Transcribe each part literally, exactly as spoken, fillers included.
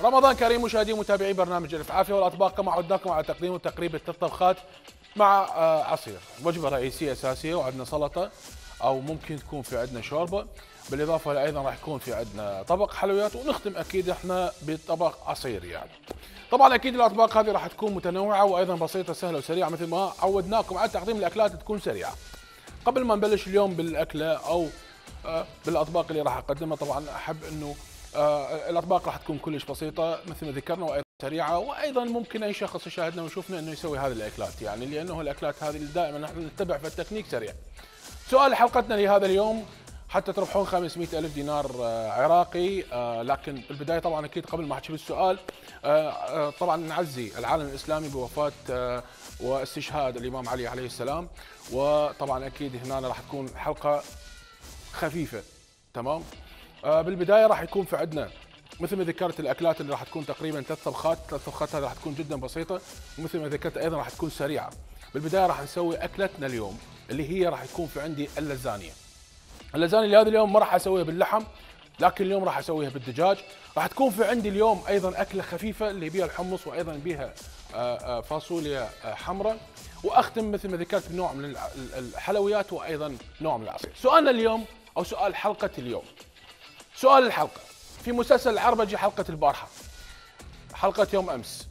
رمضان كريم مشاهدي ومتابعي برنامج الف عافيه والاطباق، كما عودناكم على تقديم وتقريب الثلاث طبخات مع عصير، وجبه رئيسيه اساسيه، وعندنا سلطه او ممكن تكون في عندنا شوربه، بالاضافه ايضا راح يكون في عندنا طبق حلويات، ونختم اكيد احنا بطبق عصير يعني. طبعا اكيد الاطباق هذه راح تكون متنوعه وايضا بسيطه سهله وسريعه مثل ما عودناكم على تقديم الاكلات تكون سريعه. قبل ما نبلش اليوم بالاكله او بالاطباق اللي راح اقدمها، طبعا احب انه آه الاطباق راح تكون كلش بسيطه مثل ما ذكرنا وايضا سريعه، وايضا ممكن اي شخص يشاهدنا ويشوفنا انه يسوي هذه الاكلات، يعني لانه الاكلات هذه دائما نحن نتبع في التكنيك سريع. سؤال حلقتنا لهذا اليوم حتى تربحون خمسمئة ألف دينار آه عراقي، آه لكن بالبدايه طبعا اكيد قبل ما احكي بالسؤال آه آه طبعا نعزي العالم الاسلامي بوفاه آه واستشهاد الامام علي عليه السلام، وطبعا اكيد هنا راح تكون حلقه خفيفه تمام. آه بالبدايه راح يكون في عندنا مثل ما ذكرت الاكلات اللي راح تكون تقريبا ثلاث طبخات، ثلاث طبخات هذه راح تكون جدا بسيطه، ومثل ما ذكرت ايضا راح تكون سريعه. بالبدايه راح نسوي اكلتنا اليوم اللي هي راح يكون في عندي اللازانيا. اللازانيا اللي هذا اليوم ما راح اسويها باللحم، لكن اليوم راح اسويها بالدجاج. راح تكون في عندي اليوم ايضا اكله خفيفه اللي بيها الحمص وايضا بيها فاصوليا حمراء، واختم مثل ما ذكرت بنوع من الحلويات وايضا نوع من العصير. سؤالنا اليوم او سؤال حلقه اليوم، سؤال الحلقه في مسلسل العربجي حلقه البارحه، حلقه يوم امس،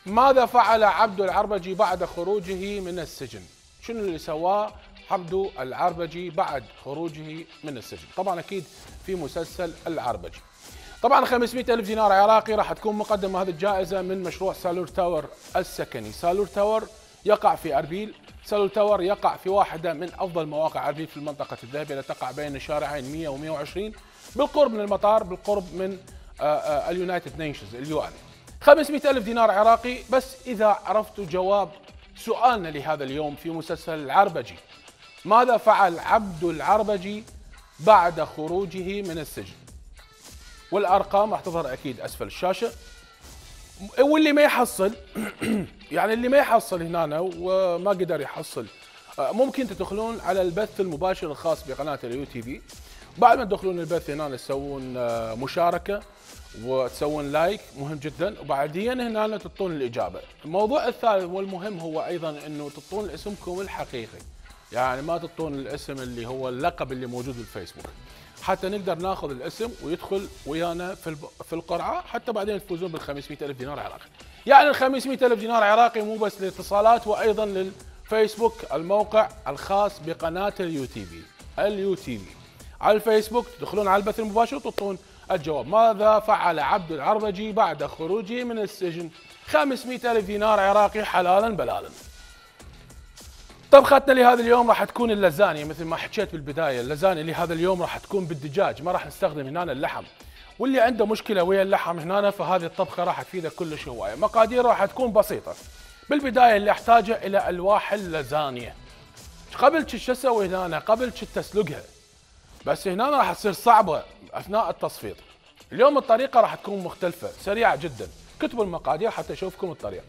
ماذا فعل عبد العربجي بعد خروجه من السجن؟ شنو اللي سواه عبد العربجي بعد خروجه من السجن؟ طبعا اكيد في مسلسل العربجي. طبعا خمسمئة ألف دينار عراقي راح تكون مقدمه هذه الجائزه من مشروع سالور تاور السكني. سالور تاور يقع في اربيل، سالور تاور يقع في واحده من افضل مواقع اربيل في المنطقه الذهبيه التي تقع بين شارعين مئة ومئة وعشرين، بالقرب من المطار، بالقرب من اليونايتد نيشنز اليو ان. خمسمئة ألف دينار عراقي بس اذا عرفتوا جواب سؤالنا لهذا اليوم في مسلسل العربجي، ماذا فعل عبد العربجي بعد خروجه من السجن؟ والارقام راح تظهر اكيد اسفل الشاشه. واللي ما يحصل يعني اللي ما يحصل هنا وما قدر يحصل، ممكن تدخلون على البث المباشر الخاص بقناه اليو تي في. بعد ما تدخلون البث هنا تسوون مشاركه وتسوون لايك، مهم جدا، وبعدين هنا تعطون الاجابه. الموضوع الثالث والمهم هو ايضا انه تعطون اسمكم الحقيقي، يعني ما تعطون الاسم اللي هو اللقب اللي موجود بالفيسبوك، حتى نقدر ناخذ الاسم ويدخل ويانا في في القرعه، حتى بعدين تفوزون بال خمسمئة ألف دينار عراقي. يعني ال خمسمئة ألف دينار عراقي مو بس للاتصالات، وايضا للفيسبوك، الموقع الخاص بقناه اليو تي في. اليو تي في على الفيسبوك تدخلون على البث المباشر وتعطون الجواب، ماذا فعل عبد العربجي بعد خروجه من السجن؟ خمسمئة ألف دينار عراقي حلالا بلالا. طبختنا لهذا اليوم راح تكون اللازانيا مثل ما حكيت بالبدايه. اللازانيا لهذا اليوم راح تكون بالدجاج، ما راح نستخدم هنا اللحم، واللي عنده مشكله ويا اللحم هنا فهذه الطبخه راح تفيده كلش هوايه. مقادير راح تكون بسيطه. بالبدايه اللي احتاجه الى الواح اللازانيا. قبل شو اسوي هنا؟ قبل شو تسلقها، بس هنا راح تصير صعبه اثناء التصفيط. اليوم الطريقه راح تكون مختلفه سريعه جدا. كتبوا المقادير حتى اشوفكم الطريقه.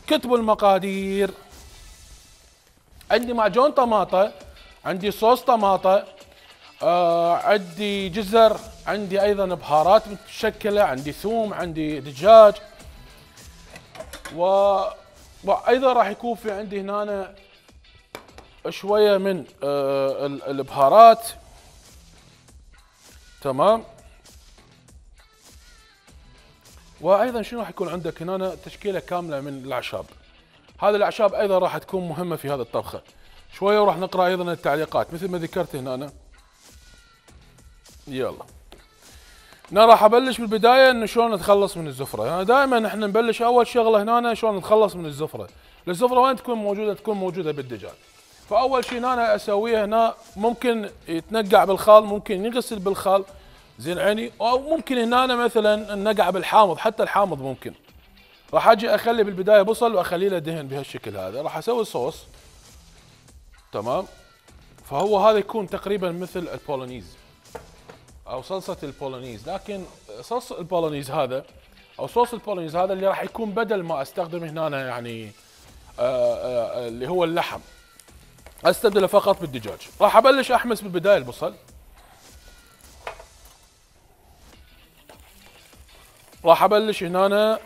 كتبوا المقادير. عندي معجون طماطة، عندي صوص طماطة، آه عندي جزر، عندي ايضا بهارات متشكلة، عندي ثوم، عندي دجاج، و... وايضا راح يكون في عندي هنا شوية من آه البهارات. تمام. وايضا شنو راح يكون عندك هنا؟ تشكيله كامله من الاعشاب. هذه الاعشاب ايضا راح تكون مهمه في هذه الطبخه. شويه وراح نقرا ايضا التعليقات مثل ما ذكرت هنا. يلا انا راح ابلش بالبدايه انه شلون نتخلص من الزفره. يعني دائما احنا نبلش اول شغله هنا شلون نتخلص من الزفره. الزفره وين تكون موجوده؟ تكون موجوده بالدجاج. فاول شيء هنا اسويه هنا ممكن يتنقع بالخال، ممكن يغسل بالخال زين عيني، او ممكن هنا مثلا النقع بالحامض، حتى الحامض ممكن. راح اجي اخلي بالبدايه بصل واخليه له دهن بهالشكل هذا. راح اسوي صوص. تمام. فهو هذا يكون تقريبا مثل البولونيز او صلصه البولونيز، لكن صوص البولونيز هذا او صوص البولونيز هذا اللي راح يكون بدل ما استخدم هنا يعني آآ آآ اللي هو اللحم، استبدله فقط بالدجاج. راح ابلش احمس بالبدايه البصل. راح ابلش هنا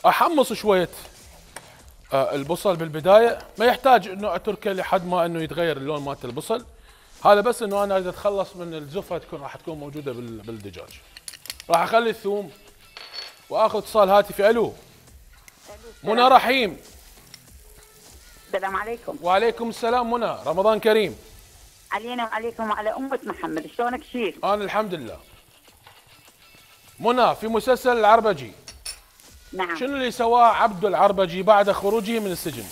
احمص شويه آه البصل بالبدايه، ما يحتاج انه اتركه لحد ما انه يتغير اللون مالت البصل، هذا بس انه انا اريد اتخلص من الزفره تكون راح تكون موجوده بالدجاج. راح اخلي الثوم واخذ اتصال هاتفي. الو منى رحيم. السلام عليكم. وعليكم السلام منى، رمضان كريم. علينا وعليكم وعلى أمة محمد، شلونك شيخ؟ انا الحمد لله. منى، في مسلسل العربجي نعم شنو اللي سواه عبد العربجي بعد خروجه من السجن؟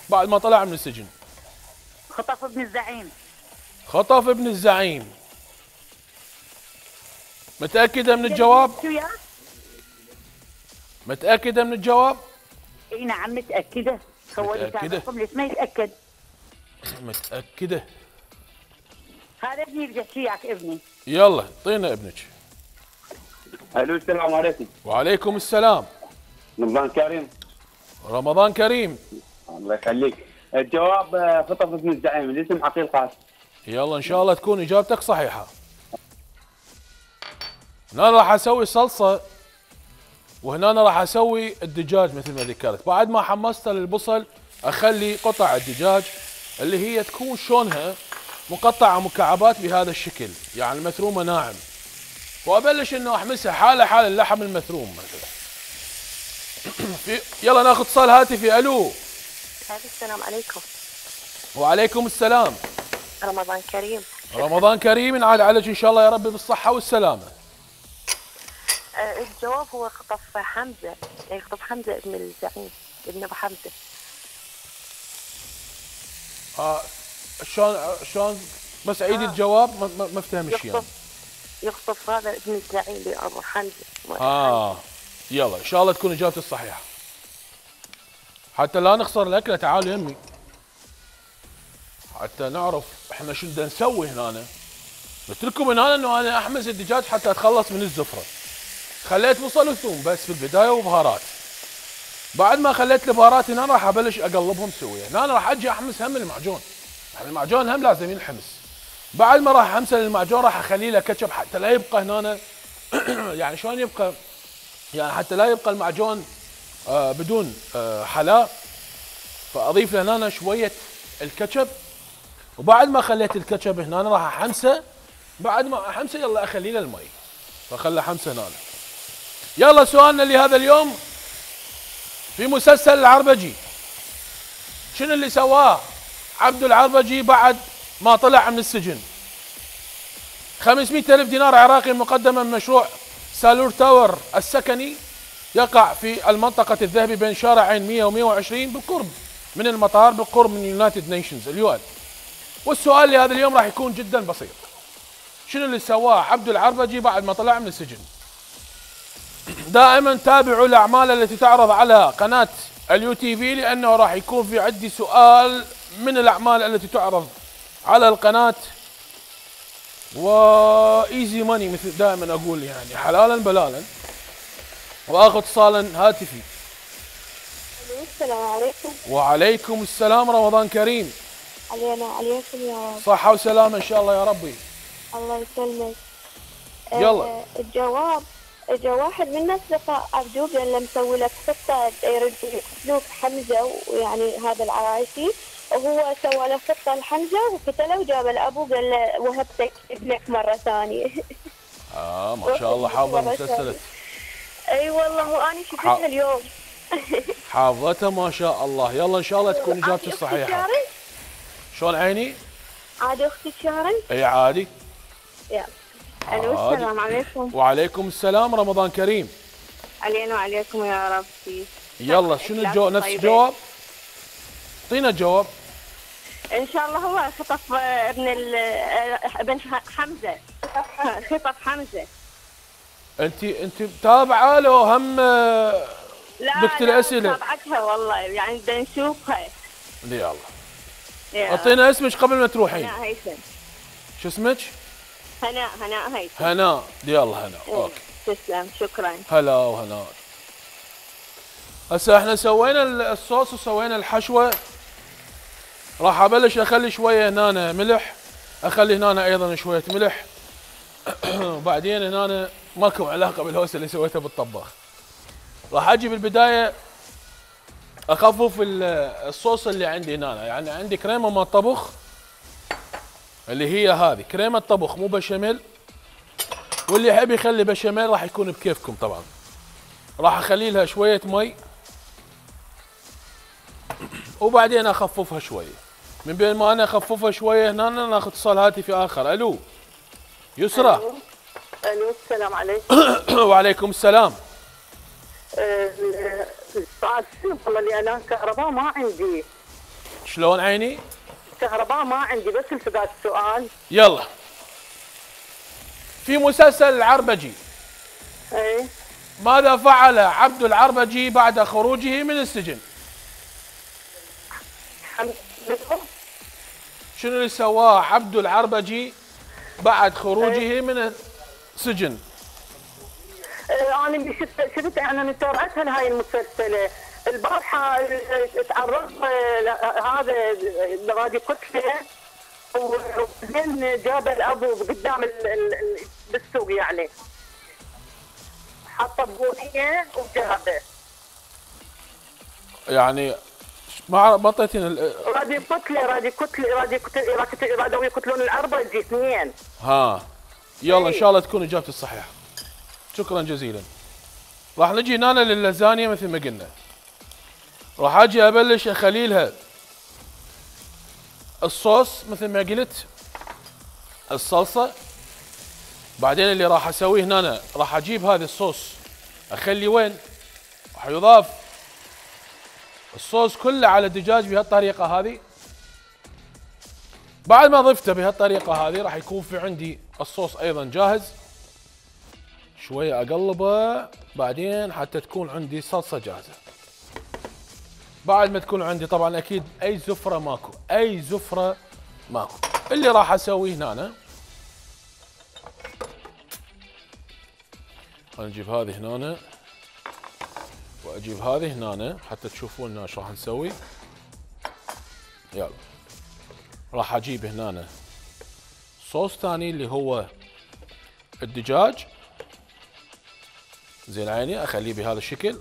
بعد ما طلع من السجن خطف ابن الزعيم. خطف ابن الزعيم. متأكدة من الجواب؟ شو يا؟ متأكدة من الجواب؟ اي نعم متأكدة. هو اللي متأكدة؟ كان ليش ما يتأكد؟ متأكدة؟ هذا ابني بدي احكي وياك ابني. يلا اعطينا ابنك. الو السلام عليكم. وعليكم السلام. رمضان كريم. رمضان كريم. الله يخليك. الجواب آه، خطف ابن الزعيم، الاسم عقيل قاسم. يلا ان شاء الله تكون اجابتك صحيحة. هنا راح اسوي صلصة، وهنا راح اسوي الدجاج مثل ما ذكرت. بعد ما حمصت البصل اخلي قطع الدجاج اللي هي تكون شلونها مقطعة مكعبات بهذا الشكل، يعني المثرومة ناعم، وابلش انه احمسها حالة حال اللحم المثروم مثلا. في يلا ناخذ اتصال هاتفي. الو السلام عليكم. وعليكم السلام. رمضان كريم. رمضان كريم، ينعاد عليك ان شاء الله يا رب بالصحة والسلامة. آه الجواب هو خطف حمزة، يعني خطف حمزة ابن الزعيم، ابن ابو حمزة. اه شلون شلون بس عيدي آه. الجواب ما, ما, ما افتهمش يعني. يخطف هذا ابن الزعيم لابو حمزة. اه يلا ان شاء الله تكون اجابتي الصحيحة، حتى لا نخسر الاكلة. تعالوا يمي حتى نعرف احنا شو بدنا نسوي هنا. قلت لكم من هنا انه انا احمس الدجاج حتى اتخلص من الزفرة. خليت بصل وثوم بس في البداية وبهارات. بعد ما خليت البهارات هنا راح ابلش اقلبهم سوية. هنا راح اجي احمس هم المعجون، يعني المعجون هم لازم ينحمس. بعد ما راح امسل المعجون راح اخلي له كاتشب حتى لا يبقى هنا يعني شلون يبقى، يعني حتى لا يبقى المعجون آه بدون آه حلاء، فاضيف له هنا شويه الكاتشب. وبعد ما خليت الكاتشب هنا راح احمسه. بعد ما احمسه يلا اخلي له المي، فخله حمسه هنا. يلا سؤالنا لهذا اليوم، في مسلسل العربجي شنو اللي سواه عبد العربجي بعد ما طلع من السجن؟ خمسمئة ألف دينار عراقي مقدمة من مشروع سالور تاور السكني يقع في المنطقة الذهبي بين شارعين مئة و مئة وعشرين بالقرب من المطار، بالقرب من يونايتد نيشنز اليو ان. والسؤال لهذا اليوم راح يكون جدا بسيط، شنو اللي سواه عبد العربجي بعد ما طلع من السجن؟ دائما تابعوا الاعمال التي تعرض على قناة اليو تي في، لانه راح يكون في عندي سؤال من الاعمال التي تعرض على القناة، وايزي ماني مثل دائما اقول، يعني حلالا بلالا. واخذ اتصالا هاتفي. السلام عليكم. وعليكم السلام. رمضان كريم. علينا عليكم يا رب. صحة وسلامة ان شاء الله يا ربي. الله يسلمك. يلا. آه الجواب اجى واحد من الناس لقى عبدوب لما مسوي لك خطه يرد يقتلوك حمزه، ويعني هذا العرايشي، وهو سوى له خطه لحمزه وقتله وجاب الابو قال له وهبتك ابنك مره ثانيه. اه ما شاء الله حافظه المسلسلات. اي والله وانا شفتها اليوم. حافظتها ما شاء الله. يلا ان شاء الله تكون اجابتي الصحيحه. شلون عيني؟ عادي اختي شارن؟ اي عادي. يلا. الو السلام عليكم. وعليكم السلام. رمضان كريم. علينا وعليكم يا ربي. يلا شنو الجواب؟ نفس الجواب؟ اعطينا الجواب. ان شاء الله هو خطف ابن ابن حمزه. خطف حمزه. انت انت متابعه لو هم بكت الاسئله؟ لا متابعتها والله، يعني بدنا نشوفها. يلا اعطينا اسمك قبل ما تروحين. هناء هيثم. شو اسمك؟ هناء هناء هيثم. هناء. يلا هناء. اوكي تسلم شكرا. هلا وهناء. هسه احنا سوينا الصوص وسوينا الحشوه، راح ابلش اخلي شويه هنا ملح، اخلي هنا ايضا شويه ملح وبعدين هنا ماكو علاقه بالهوسه اللي سويتها بالطباخ. راح اجي بالبدايه اخفف الصوص اللي عندي هنا، يعني عندي كريمه مال طبخ اللي هي هذه كريمه طبخ مو بشاميل، واللي يحب يخلي بشاميل راح يكون بكيفكم طبعا. راح اخلي لها شويه مي وبعدين اخففها شويه. من بين ما انا اخففها شويه هنا ناخذ اتصال هاتفي اخر. الو يسرى. الو السلام عليكم. وعليكم السلام. السؤال والله اللي انا كهرباء ما عندي. شلون عيني؟ كهرباء ما عندي بس التقاط السؤال. يلا. في مسلسل العربجي ايه ماذا فعل عبد العربجي بعد خروجه من السجن؟ شنو اللي سواه عبد العربجي بعد خروجه من السجن؟ انا شفت شفت انا متابعتها لهاي المسلسله البارحه. تعرض هذا غادي كتله وبعدين جاب الابو قدام بالسوق يعني حط بونيه وجابه. يعني ما ما اعطيتينا رادي كتله رادي كتله رادي كتله رادوا يقتلون العربجي اثنين. ها يلا ان شاء الله تكون اجابتي الصحيحه. شكرا جزيلا. راح نجي هنا لللازانيا مثل ما قلنا. راح اجي ابلش اخلي لها الصوص مثل ما قلت، الصلصه. بعدين اللي راح اسويه هنا راح اجيب هذا الصوص اخلي وين؟ راح يضاف الصوص كله على الدجاج بهالطريقه هذه. بعد ما ضفته بهالطريقه هذه راح يكون في عندي الصوص ايضا جاهز. شويه اقلبه بعدين حتى تكون عندي صلصه جاهزه. بعد ما تكون عندي طبعا اكيد اي زفره ماكو، اي زفره ماكو. اللي راح اسويه هنا خلينا نجيب هذه هنا واجيب هذه هنا حتى تشوفون ايش راح نسوي. يلا راح اجيب هنا صوص ثاني اللي هو الدجاج. زين عيني اخليه بهذا الشكل،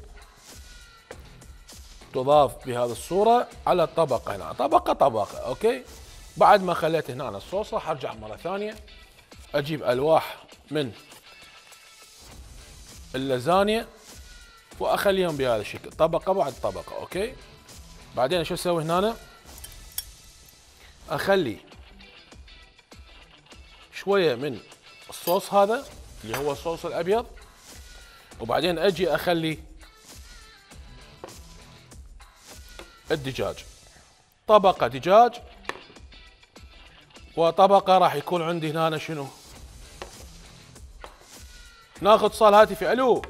تضاف بهذه الصورة على الطبقة هنا، طبقة طبقة. اوكي. بعد ما خليت هنا الصوص راح ارجع مرة ثانية اجيب الواح من اللازانيا واخليهم بهذا الشكل طبقة بعد طبقة. اوكي. بعدين شو اسوي هنا؟ اخلي شوية من الصوص هذا اللي هو الصوص الابيض، وبعدين اجي اخلي الدجاج، طبقة دجاج وطبقة راح يكون عندي هنا شنو؟ ناخذ اتصال هاتفي. الو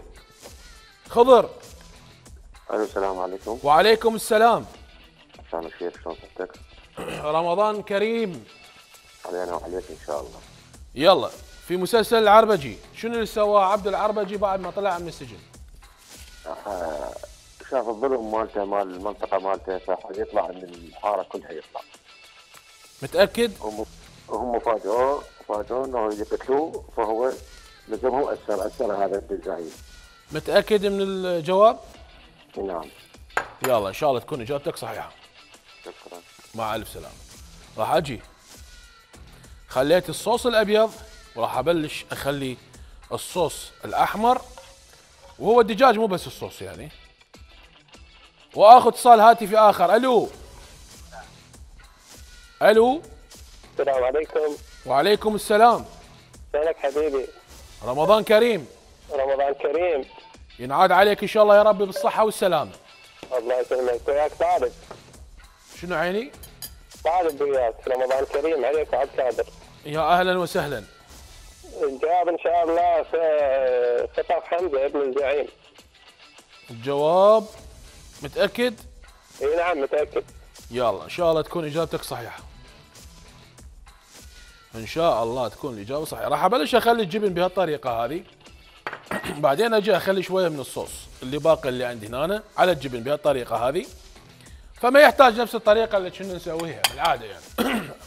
خضر. الو السلام عليكم. وعليكم السلام. مساء الخير، شلون صحتك؟ رمضان كريم علينا وعليك ان شاء الله. يلا في مسلسل العربجي شنو اللي سواه عبد العربجي بعد ما طلع من السجن؟ آه شاف الظلم مالته مال المنطقه مالته فحد يطلع من الحاره كلها يطلع. متاكد؟ هم هم فاجئوه فاجئوه انه يقتلوه فهو لزمهم اثر اثر هذا الزعيم. متاكد من الجواب؟ نعم. يلا ان شاء الله تكون اجابتك صحيحه. شكرا. مع الف سلامه. راح اجي خليت الصوص الابيض وراح ابلش اخلي الصوص الاحمر، وهو الدجاج مو بس الصوص يعني. واخذ اتصال هاتفي اخر. الو الو. السلام عليكم. وعليكم السلام. شلونك حبيبي؟ رمضان كريم. رمضان كريم. ينعاد عليك ان شاء الله يا ربي بالصحه والسلامه. الله يسلمك. وياك طالب. شنو عيني؟ طالب وياك. رمضان كريم عليك وعلى الكادر. يا اهلا وسهلا. الجواب ان شاء الله في خطاب حمزه ابن الزعيم. الجواب متاكد؟ اي نعم متاكد. يلا ان شاء الله تكون اجابتك صحيحه. ان شاء الله تكون الاجابه صحيحه. راح ابلش اخلي الجبن بهالطريقه هذه، بعدين اجي اخلي شويه من الصوص اللي باقي اللي عندي هنا على الجبن بهالطريقه هذه، فما يحتاج نفس الطريقه اللي كنا نسويها بالعاده يعني.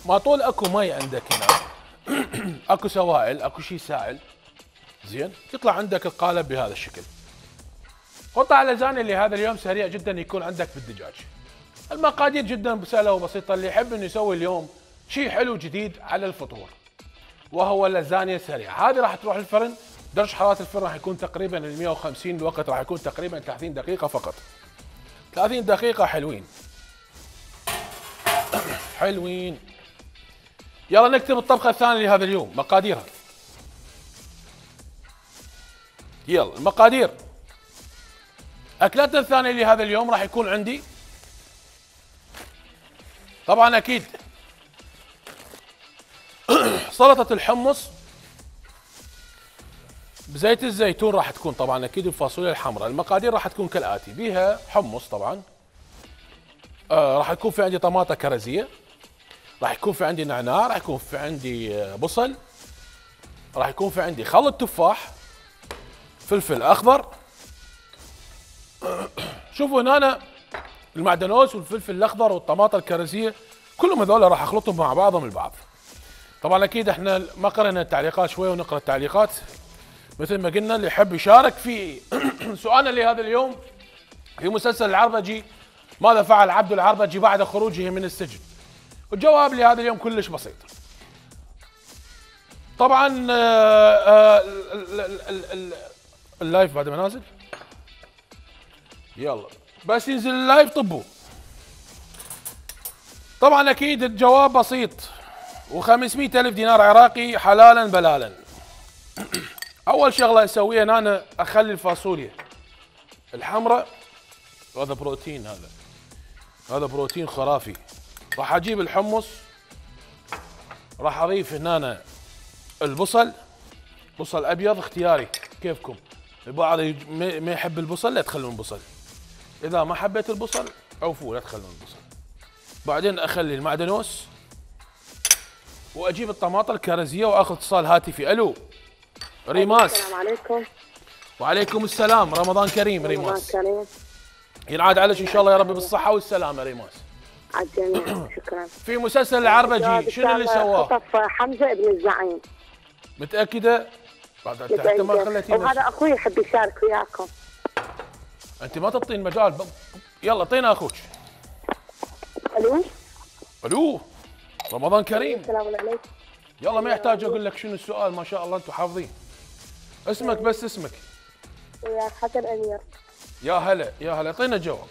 ما طول اكو مي عندك هنا اكو سوائل، اكو شيء سائل زين، يطلع عندك القالب بهذا الشكل. قطع اللازانيا لهذا اليوم سريع جدا يكون عندك بالدجاج. المقادير جدا سهله وبسيطه، اللي يحب انه يسوي اليوم شيء حلو جديد على الفطور وهو اللازانيا السريعه. هذه راح تروح الفرن، درجه حراره الفرن راح يكون تقريبا مئة وخمسين، الوقت راح يكون تقريبا ثلاثين دقيقه فقط. ثلاثين دقيقه حلوين حلوين. يلا نكتب الطبخه الثانيه لهذا اليوم، مقاديرها. يلا المقادير. اكلتنا الثانيه لهذا اليوم راح يكون عندي طبعا اكيد سلطه الحمص بزيت الزيتون، راح تكون طبعا اكيد الفاصوليا الحمراء. المقادير راح تكون كالاتي: بيها حمص طبعا، آه راح يكون في عندي طماطه كرزيه، راح يكون في عندي نعناع، راح يكون في عندي بصل، راح يكون في عندي خلط تفاح، فلفل اخضر. شوفوا هنا المعدنوس والفلفل الاخضر والطماطه الكرزيه كلهم هذول راح اخلطهم مع بعضهم البعض. طبعا اكيد احنا ما قرأنا التعليقات شوي ونقرا التعليقات مثل ما قلنا. اللي يحب يشارك في سؤالنا لهذا اليوم في مسلسل العربجي، ماذا فعل عبد العربجي بعد خروجه من السجن؟ الجواب لهذا اليوم كلش بسيط. طبعا اللايف بعد ما نازل، يلا بس ينزل اللايف طبوا. طبعا اكيد الجواب بسيط، وخمسمئة ألف دينار عراقي حلالا بلالا. اول شغله اسويها ان انا اخلي الفاصوليا الحمراء، هذا بروتين، هذا هذا بروتين خرافي. راح اجيب الحمص، راح اضيف هنا أنا البصل، بصل ابيض اختياري كيفكم. البعض ما يحب البصل لا تخلون البصل، اذا ما حبيت البصل عوفوا لا تخلون البصل. بعدين اخلي المعدنوس واجيب الطماطم الكرزيه واخذ اتصال هاتفي. الو ريماس. السلام عليكم. وعليكم السلام، رمضان كريم ريماس. رمضان كريم. ينعاد عليك ان شاء الله يا رب بالصحه والسلامه ريماس. على الجميع شكرا. في مسلسل العربجي شنو اللي سواه؟ خطف حمزه ابن الزعيم. متاكده؟ بعد تحت ما خليتي. وهذا اخوي يحب يشارك وياكم. انت ما تعطين مجال ب... يلا اعطينا اخوك. الو الو رمضان كريم. السلام عليكم. يلا ما يحتاج اقول لك شنو السؤال، ما شاء الله انتم حافظين. اسمك بس اسمك. وياك حسن امير. يا هلا يا هلا، اعطينا جواب.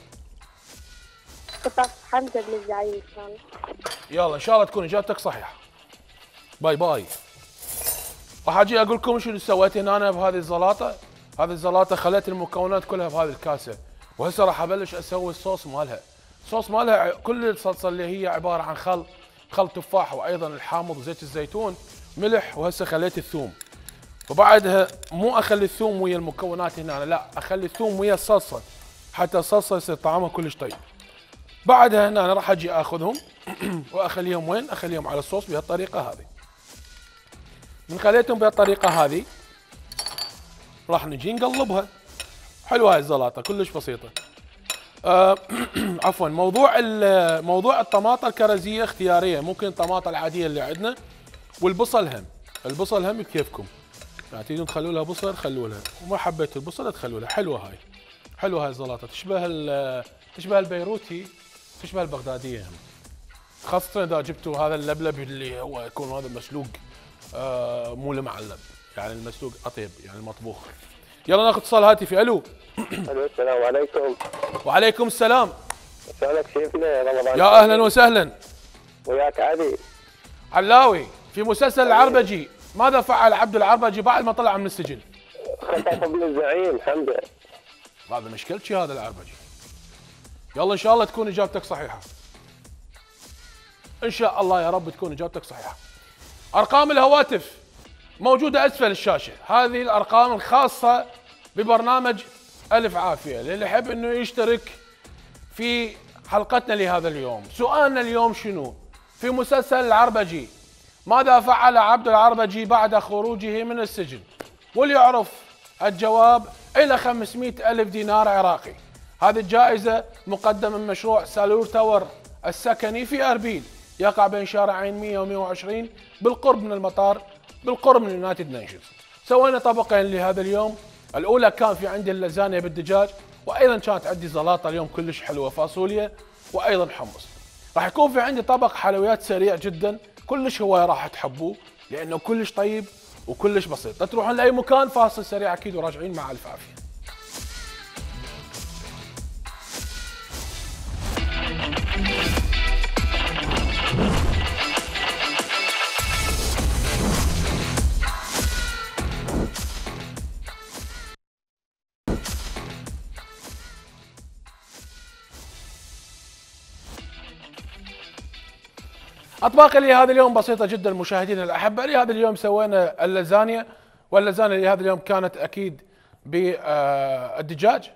خطف حمزه بن الزعيم ان شاء الله. يلا ان شاء الله تكون اجابتك صحيحه. باي باي. راح اجي اقول لكم شنو سويت هنا انا بهذه الزلاطه. هذه الزلاطه خليت المكونات كلها بهذه الكاسه، وهسه راح ابلش اسوي الصوص مالها. الصوص مالها كل الصلصه اللي هي عباره عن خل خل تفاح، وايضا الحامض، زيت الزيتون، ملح، وهسه خليت الثوم. وبعدها مو اخلي الثوم ويا المكونات هنا، لا اخلي الثوم ويا الصلصه حتى الصلصه يصير طعمها كلش طيب. بعدها هنا انا راح اجي اخذهم واخليهم وين؟ اخليهم على الصوص بهالطريقه هذه. من خليتهم بهالطريقه هذه راح نجي نقلبها. حلوه هاي الزلاطه كلش بسيطه. آه عفوا، موضوع موضوع الطماطه الكرزيه اختياريه، ممكن الطماطه العاديه اللي عندنا، والبصل هم. البصل هم كيفكم، يعني تريدون تخلوا لها بصل خلوا لها، وما حبيت البصل تخلوا لها. حلوه هاي، حلوه هاي الزلاطه، تشبه تشبه البيروتي، تشبه البغداديه هم، خاصه اذا جبتوا هذا اللبلب اللي هو يكون هذا مسلوق، آه مو المعلب، يعني المسلوق اطيب، يعني المطبوخ. يلا ناخذ اتصال هاتفي. الو الو السلام عليكم. وعليكم السلام. سؤالك شيفنا يا رمضان. يا اهلا وسهلا. وياك علي علاوي. في مسلسل العربجي ماذا فعل عبد العربجي بعد ما طلع من السجن؟ خطف ابن الزعيم حمزه. هذا مشكلتي هذا العربجي. يلا ان شاء الله تكون اجابتك صحيحه. ان شاء الله يا رب تكون اجابتك صحيحه. ارقام الهواتف موجوده اسفل الشاشه، هذه الارقام الخاصه ببرنامج الف عافيه، للي يحب انه يشترك في حلقتنا لهذا اليوم. سؤالنا اليوم شنو؟ في مسلسل العربجي ماذا فعل عبد العربجي بعد خروجه من السجن؟ واللي يعرف الجواب الى خمسمئة ألف دينار عراقي. هذه الجائزة مقدمة من مشروع سالور تاور السكني في أربيل، يقع بين شارعين مئة و مئة وعشرين بالقرب من المطار، بالقرب من يونايتد نيشنز. سوينا طبقين لهذا اليوم. الاولى كان في عندي اللازانيا بالدجاج، وايضا كانت عندي زلاطه اليوم كلش حلوه فاصوليا، وايضا حمص. راح يكون في عندي طبق حلويات سريع جدا، كلش هو راح تحبوه لانه كلش طيب وكلش بسيط. لا تروحون لاي مكان، فاصل سريع اكيد وراجعين مع الف عافيه. اطباق اللي هذا اليوم بسيطه جدا مشاهدينا الاحبه. لهذا اليوم سوينا اللازانيا، واللازانيا لهذا اليوم كانت اكيد بالدجاج،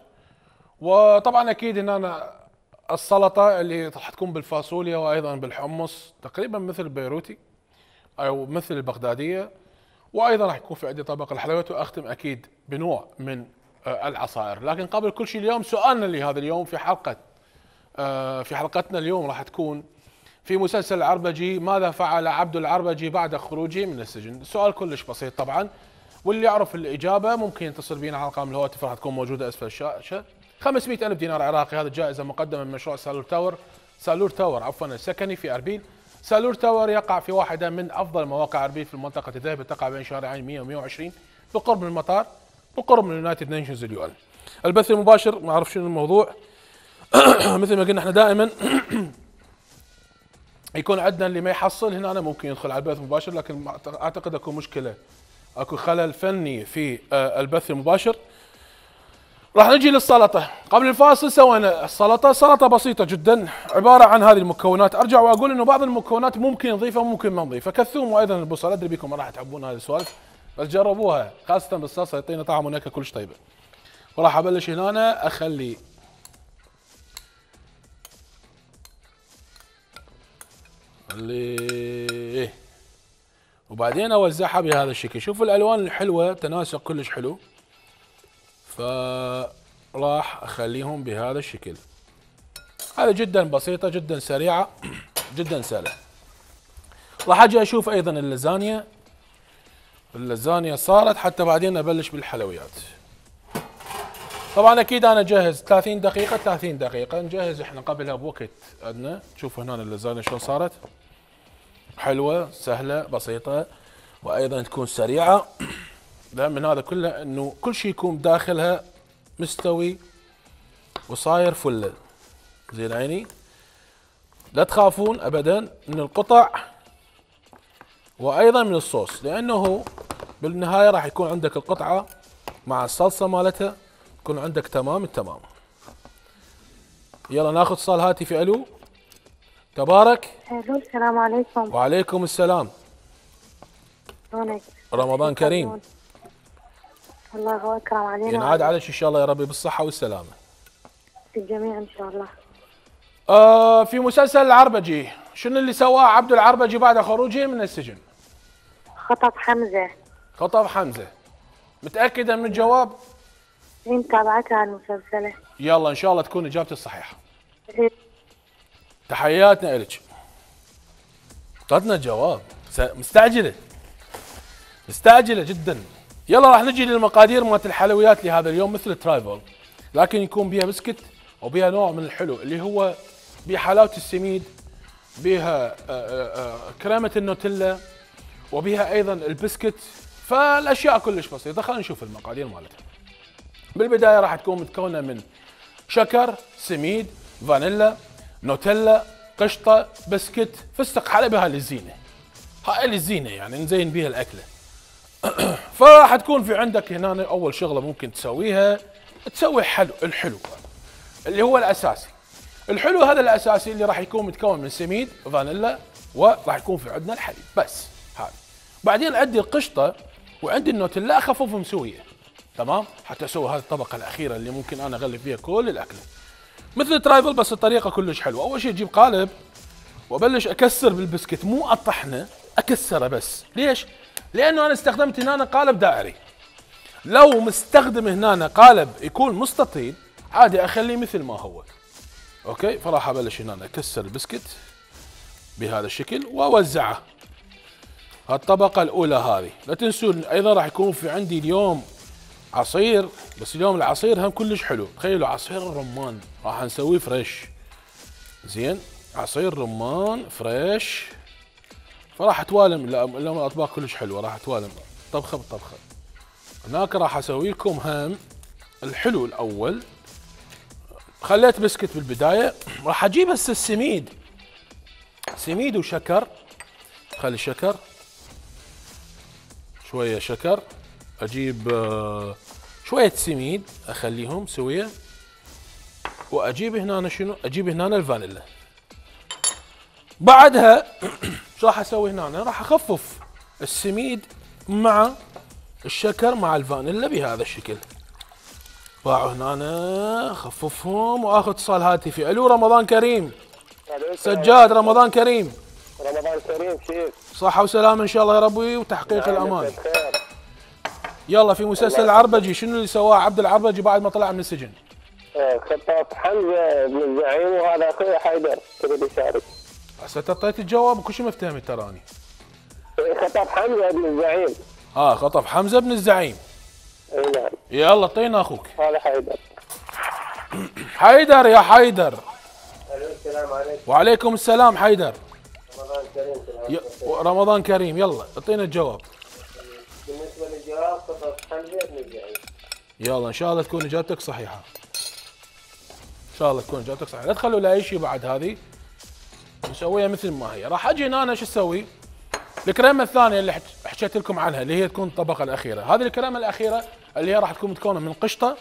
وطبعا اكيد هنا السلطه اللي راح تكون بالفاصوليا وايضا بالحمص تقريبا مثل البيروتي او مثل البغداديه، وايضا راح يكون في عندي طبق الحلويات، واختم اكيد بنوع من العصائر. لكن قبل كل شيء اليوم سؤالنا لهذا اليوم في حلقه في حلقتنا اليوم راح تكون في مسلسل العربجي، ماذا فعل عبد العربجي بعد خروجه من السجن؟ السؤال كلش بسيط طبعا، واللي يعرف الإجابة ممكن يتصل بينا على ارقام الهواتف راح تكون موجودة أسفل الشاشة. خمسمئة ألف دينار عراقي، هذه الجائزة مقدمة من مشروع سالور تاور سالور تاور عفوا السكني في أربيل. سالور تاور يقع في واحدة من أفضل مواقع أربيل في المنطقة الذهبية، تقع بين شارعين مئة و مئة وعشرين بقرب من المطار، بقرب من اليونايتد نيشنز اليو ان. البث المباشر ما أعرف شنو الموضوع مثل ما قلنا احنا دائما يكون عندنا اللي ما يحصل هنا أنا ممكن يدخل على البث المباشر، لكن اعتقد اكو مشكله، اكو خلل فني في البث المباشر. راح نجي للسلطه. قبل الفاصل سوينا السلطه، سلطه بسيطه جدا عباره عن هذه المكونات. ارجع واقول انه بعض المكونات ممكن نضيفها وممكن ما نضيفها، كالثوم وايضا البصل. ادري بكم ما راح تحبون هذه السوالف، بس جربوها خاصه بالصلصه يعطينا طعم ونكهه كلش طيبه. وراح ابلش هنا أنا اخلي اللي وبعدين اوزعها بهذا الشكل. شوفوا الالوان الحلوه، تناسق كلش حلو، فراح اخليهم بهذا الشكل. هذا جدا بسيطه جدا سريعه جدا سهله. راح اجي اشوف ايضا اللازانيا. اللازانيا صارت حتى بعدين ابلش بالحلويات. طبعا اكيد انا جاهز ثلاثين دقيقه ثلاثين دقيقه نجهز احنا قبلها بوقت عندنا. شوفوا هنا اللازانيا شلون صارت، حلوه سهله بسيطه وايضا تكون سريعه. الاهم من هذا كله انه كل شيء يكون داخلها مستوي وصاير فله زين عيني. لا تخافون ابدا من القطع وايضا من الصوص، لانه بالنهايه راح يكون عندك القطعه مع الصلصه مالتها يكون عندك تمام التمام. يلا ناخذ اتصال هاتفي. الو تبارك. الو السلام عليكم. وعليكم السلام. شلونك؟ رمضان كريم. الله اكرم علينا. ينعاد عليك ان شاء الله يا ربي بالصحه والسلامه. الجميع ان شاء الله. آه في مسلسل العربجي شنو اللي سواه عبد العربجي بعد خروجه من السجن؟ خطف حمزه. خطف حمزه. متاكده من الجواب؟ هي متابعتها المسلسله. يلا ان شاء الله تكون اجابتي الصحيحه. تحياتنا الك. اعطتنا الجواب، مستعجله مستعجله جدا. يلا راح نجي للمقادير مالت الحلويات لهذا اليوم مثل الترايفل، لكن يكون بها بسكت وبها نوع من الحلو اللي هو بحلاوه السميد، بها كريمه النوتيلا، وبها ايضا البسكت. فالاشياء كلش بسيطه. خلينا نشوف المقادير مالتها. بالبدايه راح تكون متكونه من شكر، سميد، فانيلا، نوتيلا، قشطه، بسكت، فستق حلبي. هاي الزينه، هاي الزينه يعني نزين بيها الاكله. فراح تكون في عندك هنا اول شغله ممكن تسويها، تسوي حلو الحلو اللي هو الاساسي. الحلو هذا الاساسي اللي راح يكون متكون من سميد، فانيلا، وراح يكون في عندنا الحليب بس. هذا بعدين عندي القشطه وعندي النوتيلا اخففهم سويه تمام حتى اسوي هذه الطبقه الاخيره اللي ممكن انا اغلف فيها كل الاكله مثل الترايفل، بس الطريقه كلش حلوه. اول شيء اجيب قالب وابلش اكسر بالبسكت، مو اطحنه، اكسره بس. ليش؟ لانه انا استخدمت هنا قالب دائري. لو مستخدم هنا قالب يكون مستطيل عادي اخليه مثل ما هو. اوكي، فراح ابلش هنا اكسر البسكت بهذا الشكل واوزعه. هالطبقة الأولى هذه. لا تنسون أيضا راح يكون في عندي اليوم عصير، بس اليوم العصير هم كلش حلو. تخيلوا عصير الرمان راح نسويه فريش. زين، عصير رمان فريش، فراح توالم. اليوم الأطباق كلش حلوة، راح توالم طبخة بطبخة. هناك راح أسوي لكم هم الحلو الأول. خليت بسكت بالبداية، راح أجيب هسه السميد، سميد وشكر. خلي شكر، شوية شكر، أجيب شوية سميد أخليهم سوية، وأجيب هنا شنو؟ أجيب هنا الفانيلا. بعدها شو راح أسوي هنا؟ راح أخفف السميد مع الشكر مع الفانيلا بهذا الشكل. باعوا هنا أخففهم وآخذ اتصال هاتفي. ألو، رمضان كريم. سجاد، رمضان كريم. رمضان كريم شيف. صحة وسلامة إن شاء الله يا ربي وتحقيق الأمان. يلا، في مسلسل العربجي شنو اللي سواه عبد العربجي بعد ما طلع من السجن؟ خطاف حمزه بن الزعيم، وهذا اخوي حيدر تريد يشارك. هسه اعطيت الجواب وكل شيء مفتهمي تراني. خطاف حمزه بن الزعيم. اه، خطف حمزه بن الزعيم. اي نعم. يلا اعطينا اخوك. هذا حيدر. حيدر يا حيدر. السلام عليكم. وعليكم السلام حيدر. رمضان كريم. ي... رمضان كريم. يلا اعطينا الجواب. بالنسبه للجواب خطاف حمزه بن الزعيم. يلا ان شاء الله تكون اجابتك صحيحه. ان شاء الله تكون اجابتك صحيحه، لا تخلوا لا شيء بعد هذه. نسويها مثل ما هي. راح اجي هنا انا شو اسوي؟ الكريمه الثانيه اللي حكيت لكم عنها اللي هي تكون الطبقه الاخيره، هذه الكريمه الاخيره اللي هي راح تكون متكونه من قشطه.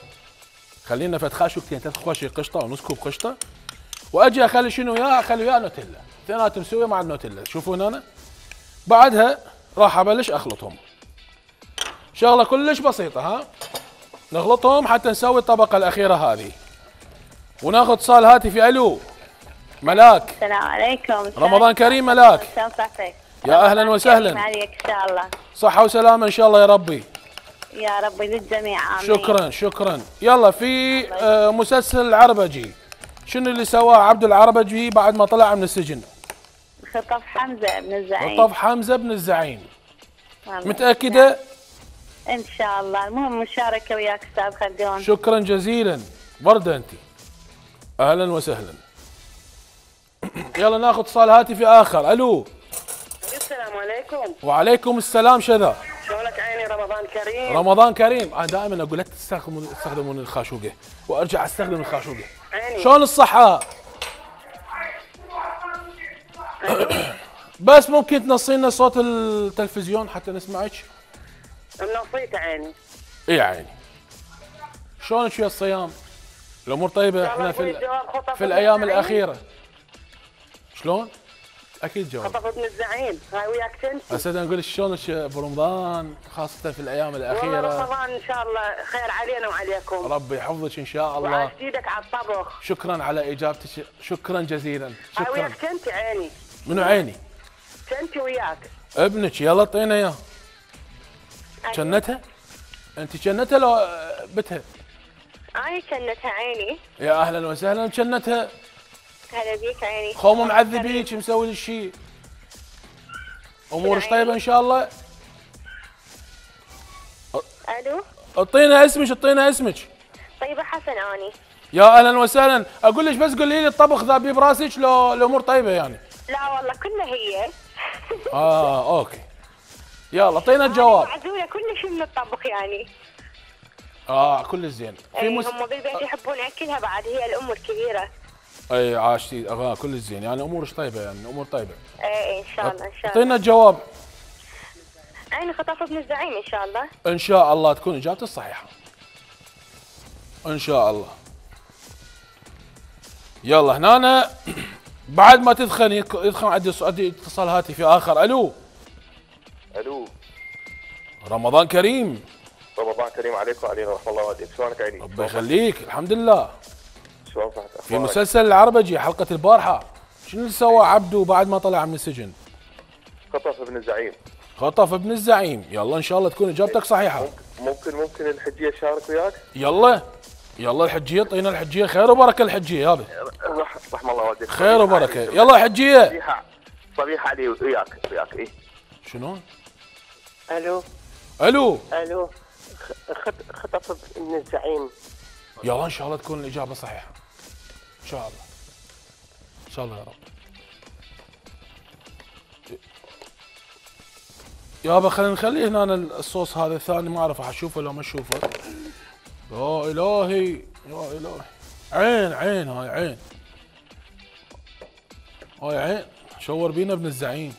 خلينا فد خاشوكتين ثلاث خواشي قشطه ونص كوب قشطه، واجي اخلي شنو وياه؟ اخلي وياه نوتيلا، اثنيناتهم مسويه مع النوتيلا. تشوفون هنا؟ بعدها راح ابلش اخلطهم. شغله كلش بسيطه، ها؟ نخلطهم حتى نسوي الطبقه الاخيره هذه. وناخذ اتصال هاتفي. الو، ملاك. السلام عليكم. رمضان كريم ملاك. شلون صحتك؟ يا اهلا وسهلا. عليك ان شاء الله. صحة وسلامة ان شاء الله يا ربي. يا ربي للجميع، امين. شكرا شكرا. يلا، في آه مسلسل العربجي شنو اللي سواه عبد العربجي بعد ما طلع من السجن؟ خطف حمزة بن الزعيم. خطف حمزة بن الزعيم. متأكدة؟ ان شاء الله. المهم مشاركة وياك استاذ خلدون. شكرا جزيلا. وردة انت. اهلا وسهلا. يلا ناخذ اتصال هاتفي اخر. الو. السلام عليكم. وعليكم السلام. شذا شلونك عيني؟ رمضان كريم. رمضان كريم. انا دائما اقول لا تستخدمون تستخدمون الخاشوقه، وارجع استخدم الخاشوقه. عيني. شلون الصحة؟ بس ممكن تنصينا صوت التلفزيون حتى نسمعك؟ منصيت عيني. اي عيني. شلونك ويا الصيام؟ الامور طيبه؟ احنا في في الايام الاخيره. شلون؟ اكيد جواب. خطف ابن الزعيم، هاي وياك تنسي. هسه نقول شلونك برمضان خاصه في الايام الاخيره؟ والله رمضان ان شاء الله خير علينا وعليكم. ربي يحفظك ان شاء الله. وعاش ايدك على الطبخ. شكرا على اجابتك، شكرا جزيلا. هاي شكرا. وياك تنتي عيني. منو عيني؟ تنتي وياك. ابنك. يلا اعطينا اياه. جنتها؟ انت جنتها لو بتها؟ انا جنتها عيني. يا اهلا وسهلا. جنتها. هلا بيك عيني. خوم معذبيك مسوي لي شيء. امورك طيبه ان شاء الله؟ الو. اعطينا اسمك، اعطينا اسمك. طيبه حسن اني. يا اهلا وسهلا. اقول لك بس قولي لي الطبخ ذا براسك لو الامور طيبه يعني؟ لا والله كلها هي. اه اوكي. يلا اعطينا الجواب. معزوله كل شيء من الطبخ يعني. اه كل زين. في مس... هم بالبيت يحبون اكلها بعد، هي الام الكبيره. اي عاشتي. اه كل زين يعني امورك طيبه يعني امور طيبه. اي ان شاء الله ان شاء الله. اعطينا الجواب. عيني خطف ابن الزعيم ان شاء الله. ان شاء الله تكون اجابتك الصحيحه. ان شاء الله. يلا هنا بعد ما تدخن يدخن عندي عندي اتصال هاتفي اخر. الو. الو. رمضان كريم. رمضان كريم عليك وعلينا ورحمه الله وبركاته. شلونك عيني؟ الله يخليك. الحمد لله. شلون صحتك؟ في مسلسل العربجي حلقة البارحة شنو اللي سوى عبده بعد ما طلع من السجن؟ خطف ابن الزعيم. خطف ابن الزعيم. يلا ان شاء الله تكون اجابتك صحيحة. ممكن ممكن الحجية تشارك وياك؟ يلا يلا الحجية. طينا الحجية. خير وبركة الحجية يابا. رحم الله والديك. خير وبركة. يلا الحجية. صبيحة صبيحة علي وياك وياك ايه. شنو؟ الو الو الو خط- خطف من الزعيم. يلا ان شاء الله تكون الاجابه صحيحه. ان شاء الله. ان شاء الله يا رب. يابا خلينا نخلي هنا الصوص هذا الثاني، ما اعرف راح اشوفه لو ما اشوفه. يا الهي يا الهي. عين عين هاي عين. هاي عين شور بينا ابن الزعيم.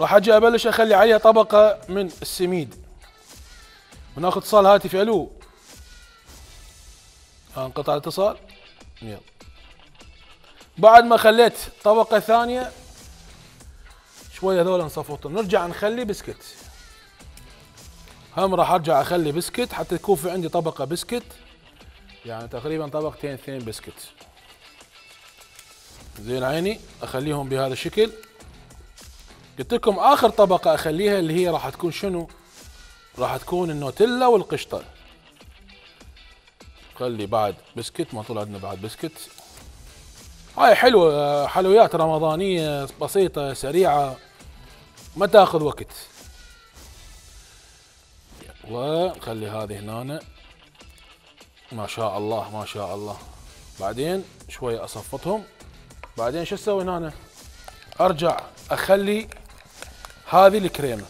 راح اجي ابلش اخلي عليها طبقه من السميد. وناخذ اتصال هاتفي. الو. انقطع الاتصال. يلا. بعد ما خليت طبقه ثانيه شويه هذول نصفطهم، نرجع نخلي بسكت. هم راح ارجع اخلي بسكت حتى يكون في عندي طبقه بسكت، يعني تقريبا طبقتين اثنين بسكت. زين عيني اخليهم بهذا الشكل. قلت لكم اخر طبقه اخليها اللي هي راح تكون شنو؟ راح تكون النوتيلا والقشطه. خلي بعد بسكت، ما طول عندنا بعد بسكت. هاي حلوه، حلويات رمضانيه بسيطه سريعه ما تاخذ وقت. وخلي هذه هنا. ما شاء الله ما شاء الله. بعدين شويه اصفطهم. بعدين شو اسوي هنا؟ ارجع اخلي هذه الكريمه.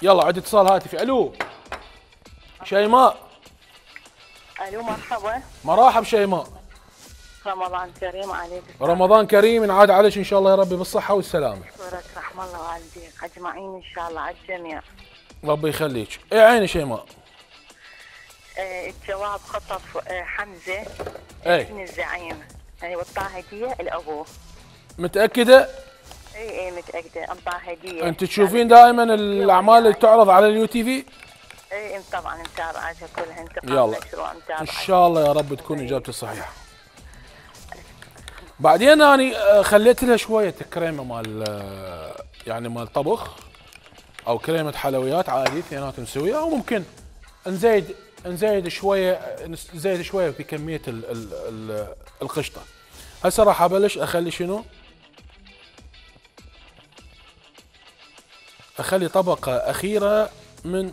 يلا عندي اتصال هاتفي. الو شيماء. الو مرحبا. مرحب شيماء. رمضان كريم عليك. رمضان كريم ينعاد عليك ان شاء الله يا ربي بالصحه والسلامه. اشكرك رحم الله والديك اجمعين ان شاء الله على الجميع. ربي يخليك. اي عيني شيماء. آه الجواب خطف آه حمزه اي ابن الزعيم، يعني والطاه هديه لابوه. متاكده؟ اي اي متاكده انطاه هديه. انت تشوفين دائما الاعمال اللي تعرض على اليو تي في؟ اي طبعا متابعتها كلها. انت يلا مشروع متابعه ان شاء الله يا رب تكون اجابتي صحيحه. بعدين اني خليت لها شويه كريمه مال يعني مال طبخ او كريمه حلويات عادي اثنيناتهم مسويه، او ممكن نزيد نزيد شويه نزيد شويه في كميه ال ال ال القشطه. هسه راح ابلش اخلي شنو؟ اخلي طبقه اخيره من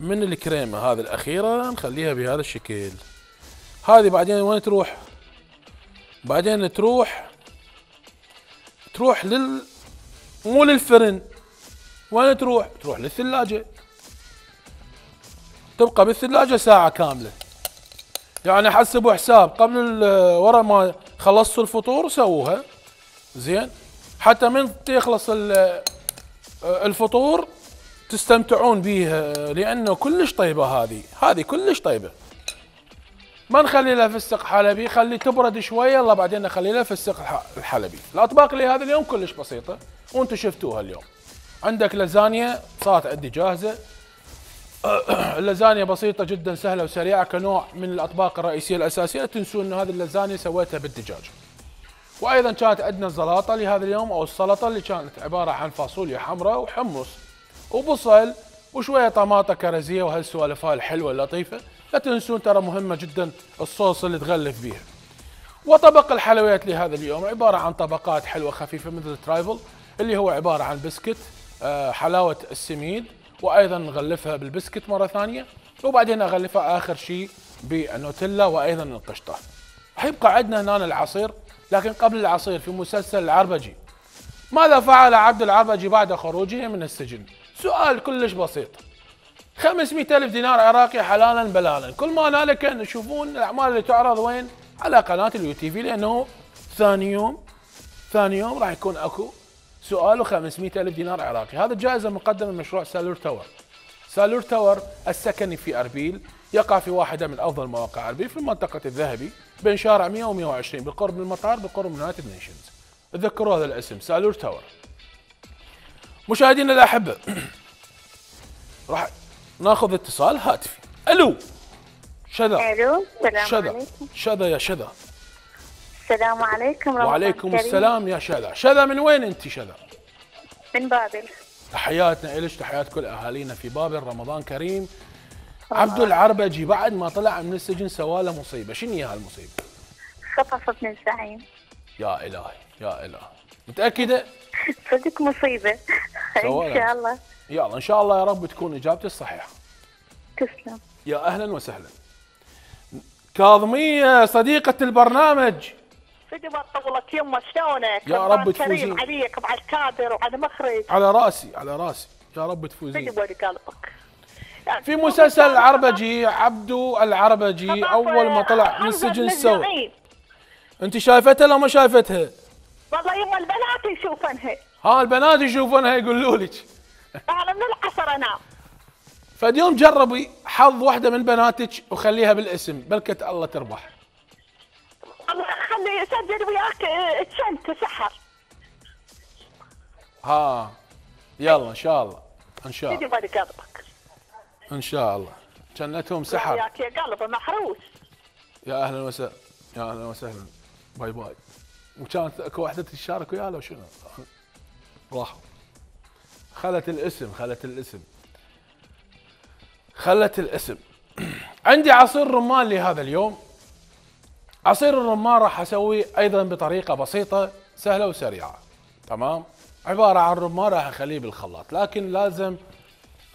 من الكريمه هذه الاخيره، نخليها بهذا الشكل. هذه بعدين وين تروح؟ بعدين تروح تروح لل مو للفرن. وين تروح؟ تروح للثلاجه. تبقى بالثلاجه ساعه كامله. يعني حسبوا حساب قبل ورا ما خلصتوا الفطور سووها زين، حتى من يخلص الفطور تستمتعون بيها، لانه كلش طيبه. هذه هذه كلش طيبه. ما نخلي لها فستق حلبي، خلي تبرد شويه يلا بعدين نخلي لها فستق الحلبي. الاطباق اللي هذا اليوم كلش بسيطه وانتم شفتوها اليوم. عندك لازانيا صارت عندي جاهزه. اللازانيا بسيطه جدا سهله وسريعه كنوع من الاطباق الرئيسيه الاساسيه. لا تنسون ان هذه اللازانيا سويتها بالدجاج. وايضا كانت عندنا الزلاطه لهذا اليوم او السلطه اللي كانت عباره عن فاصوليا حمراء وحمص وبصل وشويه طماطه كرزيه وهالسوالف هاي الحلوه اللطيفه. لا تنسون ترى مهمه جدا الصوص اللي تغلف بيها. وطبق الحلويات لهذا اليوم عباره عن طبقات حلوه خفيفه مثل الترايفل اللي هو عباره عن بسكت، حلاوه السميد، وايضا نغلفها بالبسكت مره ثانيه، وبعدين اغلفها اخر شيء بالنوتيلا وايضا القشطه. حيبقى عندنا هنا العصير، لكن قبل العصير في مسلسل العربجي ماذا فعل عبد العربجي بعد خروجه من السجن؟ سؤال كلش بسيط. خمسمئة ألف دينار عراقي حلالا بلالا. كل ما هنالك نشوفون الاعمال اللي تعرض وين؟ على قناه اليو تي في، لانه ثاني يوم ثاني يوم راح يكون اكو سؤال وخمسمئة ألف دينار عراقي. هذا الجائزه مقدمه من مشروع سالور تاور. سالور تاور السكني في اربيل، يقع في واحده من افضل مواقع اربيل في المنطقه الذهبي بين شارع مئة ومئة وعشرين بالقرب من المطار بالقرب من يونايتد نيشنز. تذكروا هذا الاسم سالور تاور. مشاهدينا الاحبه راح ناخذ اتصال هاتفي. الو شذا. الو السلام شذا عليكم. شذا يا شذا. السلام عليكم. رمضان وعليكم كريم. السلام يا شذا. شذا من وين انت شذا؟ من بابل. تحياتنا إلك، تحيات كل اهالينا في بابل. رمضان كريم. عبد العربجي بعد ما طلع من السجن سواله مصيبه، شنو هي هالمصيبه؟ خطف ابن الزعيم. يا الهي يا الهي. متاكده؟ صدق مصيبة. ان سواء. شاء الله. يلا ان شاء الله يا رب تكون اجابتي الصحيحه. تسلم. يا اهلا وسهلا. كاظميه صديقه البرنامج. صدق ما طولت يمه، شلونك؟ يا رب تفوزين. كريم عليك وعلى الكادر وعلى مخرج. على راسي على راسي، يا رب تفوزين. صدق ولي قلبك. في مسلسل العربجي عبدو العربجي اول ما طلع من السجن سوى. انت شايفتها لو ما شايفتها؟ والله يما البنات يشوفنها. ها البنات يشوفونها يقولوا لك. انا من العصر انام. فاليوم جربي حظ واحده من بناتك وخليها بالاسم، بلكة الله تربح. الله خلي يسجل وياك تشنت سحر. ها يلا ان شاء الله ان شاء الله. صدق ولي قلبك. ان شاء الله. جنتهم سحر. وياك يا قلبي محروس. يا اهلا وسهلا يا اهلا وسهلا. باي باي. وكانت اكو واحده تشارك وياه لو شنو؟ راحوا. خلت الاسم خلت الاسم خلت الاسم. عندي عصير رمان لهذا اليوم. عصير الرمان راح اسويه ايضا بطريقه بسيطه سهله وسريعه. تمام؟ عباره عن رمان راح اخليه بالخلاط، لكن لازم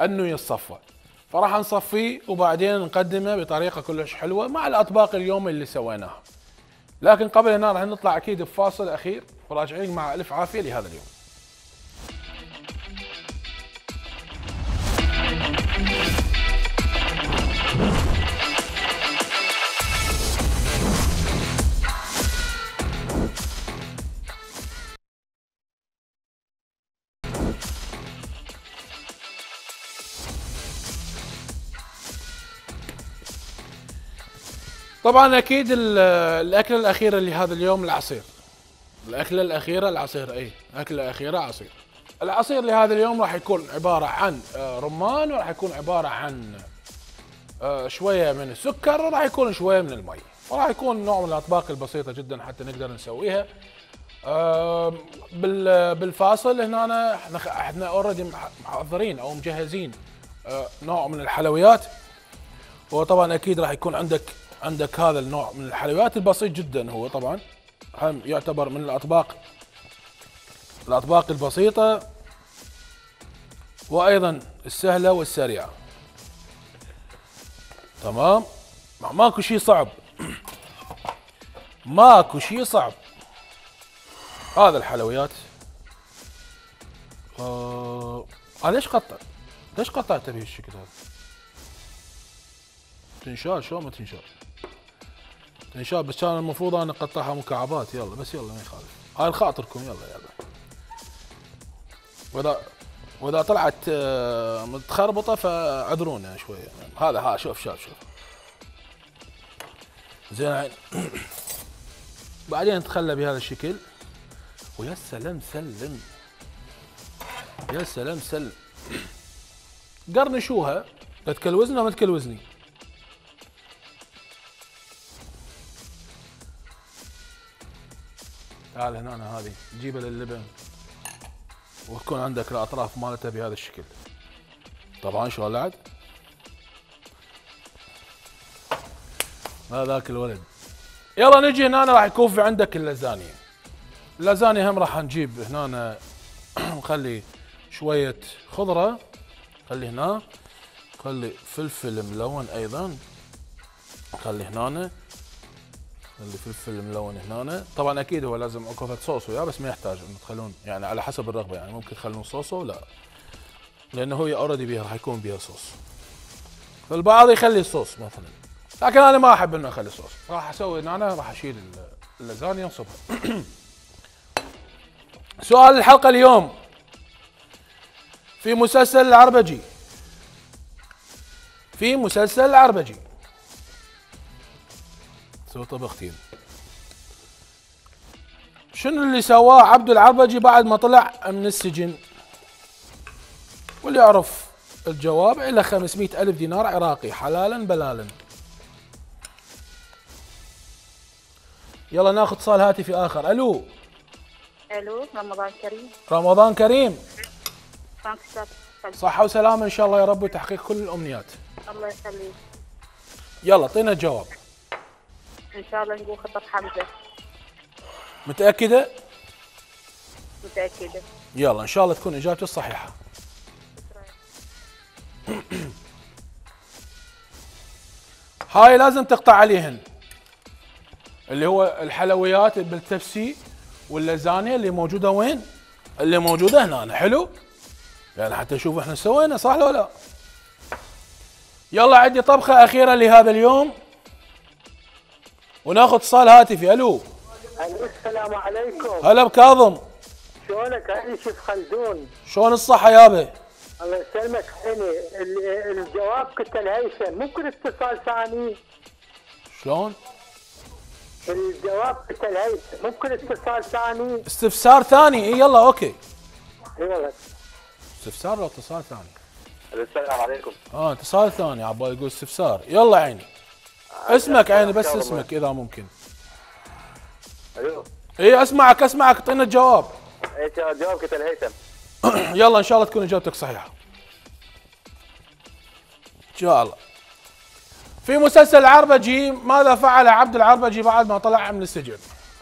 انه يتصفى. فراح نصفيه وبعدين نقدمه بطريقه كلش حلوه مع الاطباق اليوم اللي سويناها. لكن قبل هنا راح نطلع اكيد بفاصل اخير وراجعين مع الف عافيه لهذا اليوم. طبعا اكيد الاكله الاخيره لهذا اليوم العصير. الاكله الاخيره العصير، اي اكله اخيره عصير. العصير لهذا اليوم راح يكون عباره عن رمان، وراح يكون عباره عن شويه من السكر، وراح يكون شويه من المي، وراح يكون نوع من الاطباق البسيطه جدا حتى نقدر نسويها. بالفاصل هنا احنا اوريدي محضرين او مجهزين نوع من الحلويات، وطبعا اكيد راح يكون عندك عندك هذا النوع من الحلويات البسيط جدا. هو طبعا هم يعتبر من الاطباق الاطباق البسيطه وايضا السهله والسريعه. تمام؟ ماكو شيء صعب ماكو شيء صعب. هذا الحلويات آه... آه ليش قطع؟ ليش قطعته بهالشكل هذا؟ تنشال شو ما تنشال؟ تنشال، بس كان المفروض انا اقطعها مكعبات. يلا بس يلا ما يخالف، هاي خاطركم. يلا يلا. واذا واذا طلعت متخربطه فاعذرونا شويه. هذا ها شوف شوف شوف زين. بعدين نتخلى بهذا الشكل. ويا سلام سلم، يا سلام سلم. قرنشوها، لا تكلوزنا وما تكلوزني. تعال هنا أنا هذه تجيبها للبن وتكون عندك الاطراف مالتها بهذا الشكل. طبعا شلون لعد؟ ما ذاك الولد. يلا نجي هنا راح يكون في عندك اللازانيا. اللازانيا هم راح نجيب هنا نخلي شوية خضرة، خلي هنا، خلي فلفل ملون ايضا، خلي هنا، خلي فلفل ملون هنا. طبعا اكيد هو لازم اكو صوص وياه، بس ما يحتاج انه تخلون يعني على حسب الرغبة، يعني ممكن تخلون صوصه لا، لانه هو اوريدي بيها راح يكون بيها صوص. فالبعض يخلي الصوص مثلا، لكن انا ما احب انه اخلي صوص. راح اسوي هنا راح اشيل اللازانيا وانصبها. سؤال الحلقة اليوم: في مسلسل العربجي في مسلسل العربجي سوي طبختين، شنو اللي سواه عبدو العربجي بعد ما طلع من السجن؟ واللي يعرف الجواب إلى خمسمئة ألف دينار عراقي حلالا بلالا. يلا ناخذ اتصال هاتفي آخر. ألو. الو، رمضان كريم. رمضان كريم. صح صحة وسلامة إن شاء الله يا رب، وتحقيق كل الأمنيات. الله يخليك. يلا اعطينا الجواب. ان شاء الله نقول خطة حمزة. متأكدة؟ متأكدة. يلا ان شاء الله تكون اجابتي الصحيحه. هاي لازم تقطع عليهن، اللي هو الحلويات بالتبسي واللازانيا اللي موجوده وين؟ اللي موجوده هنا. حلو؟ يعني حتى نشوف احنا سوينا صح ولا لا. يلا عندي طبخه اخيره لهذا اليوم وناخذ اتصال هاتفي. الو. السلام عليكم. هلا بكاظم. شلونك علي شيف خلدون؟ شلون الصحه يابا؟ الله يسلمك. عيني الجواب كنت الهيثم، ممكن اتصال ثاني؟ شلون؟ الجواب كنت الهيثم، ممكن اتصال ثاني؟ استفسار ثاني. اي يلا اوكي. اي والله. استفسار ولا اتصال ثاني؟ السلام عليكم. اه اتصال ثاني عبالي يقول استفسار. يلا عيني. اسمك عيني بس اسمك اذا ممكن. الو. اي اسمعك اسمعك اعطينا الجواب. ايش الجواب كنت الهيثم. يلا ان شاء الله تكون اجابتك صحيحه. ان شاء الله. في مسلسل العربجي ماذا فعل عبد العربجي بعد ما طلع من السجن؟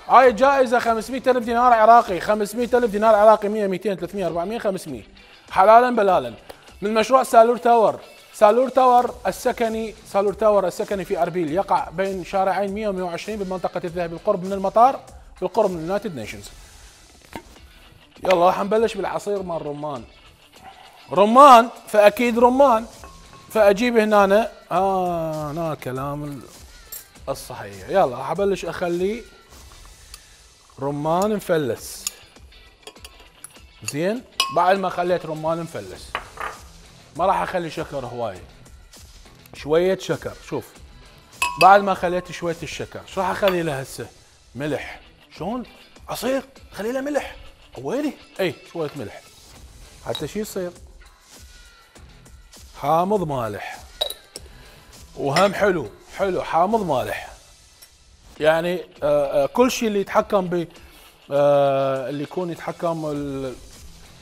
هاي الجائزة خمسمئة ألف دينار عراقي، خمسمئة ألف دينار عراقي، مئة مئتين ثلاثمئة أربعمئة خمسمئة، حلالا بلالا. من مشروع سالور تاور. سالور تاور السكني، سالور تاور السكني في أربيل يقع بين شارعين مئة ومئة وعشرين بمنطقة الذهبي بالقرب من المطار بالقرب من اليونايتد نيشنز. يلا راح نبلش بالعصير مال رمان. رمان فأكيد رمان. فأجيب هنا آه هنا كلام الصحيح. يلا راح أبلش أخلي رمان مفلس. زين. بعد ما خليت رمان مفلس ما راح أخلي شكر هواي، شوية شكر. شوف بعد ما خليت شوية الشكر شو راح أخلي له هسه؟ ملح. شلون؟ عصير خلي له ملح. ويلي؟ اي شوية ملح حتى شي يصير حامض مالح. وهم حلو حلو حامض مالح. يعني آه آه كل شيء اللي يتحكم ب آه اللي يكون يتحكم اللي